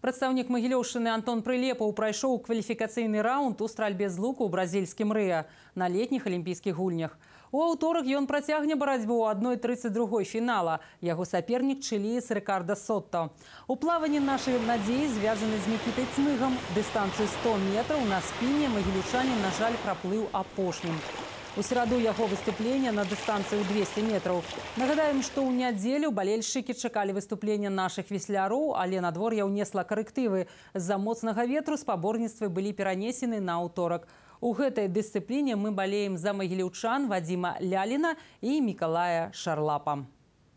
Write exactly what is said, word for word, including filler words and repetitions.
Прадстаўнік Магілёўшчыны Антон Прылепаў прайшоў кваліфікацыйны раунд у стральбе з луку ў бразільскім Рыа на летніх алімпійскіх гульнях. У аўторак ён працягне барацьбу ў адной тридцать другой фінала. Яго сапернік чыліец Рикардо Сотто. У плаванні нашай надзеі звязаны з Мікітай Цмыгам. Дыстанцыю сто метраў на спіне магілючанін, на жаль, праплыў апошнім. У сераду яго выступлення на дыстанцыю двести метраў. Нагадаем, што ў нядзелю балельшчыкі чакалі выступлення нашых весляроў, але надвор'е ўнесла карэктывы. З-за моцнага ветру спаборніцтвы былі перанесены на аўторак. У гэтай дысцыпліне мы балеем за магіліўчан Вадзіма Ляліна і Мікалая Шарлапа.